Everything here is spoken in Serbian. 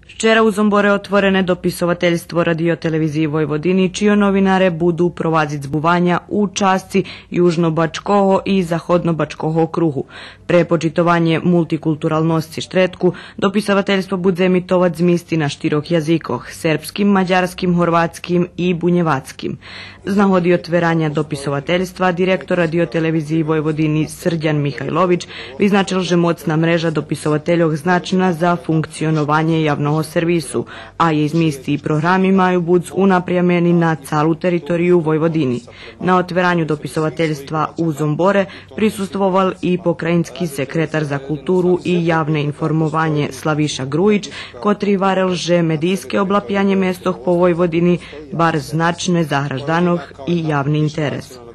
Вчера у Зомборе отворене дописователјство Радиотелевизии Војводини, чио новинаре буду провадзит збувања у части Јужно-Бачкого и Заходно-Бачкого округу. Пре почитување мултикултуралности Штретку, дописователјство буде емитоват змисти на штирок јазикох – сербским, маđарским, хорватским и бунјевацким. Знаходи отверања дописователјства, директор Радиотелевизии Војводини Срđan Михајловиć визначил же моцна мрежа дописователјог значна за функционовање јавного сервису, а ја измисти и програми мају буд унапрјамени на цалу територију Војводини. На отверању дописователјства у Зомборе присуствовал и покрајински секретар за културу и јавне информување Славиша Груиć, котри варел же медијске облапјање местох по Војводини бар значне за гражданов и јавни интерес.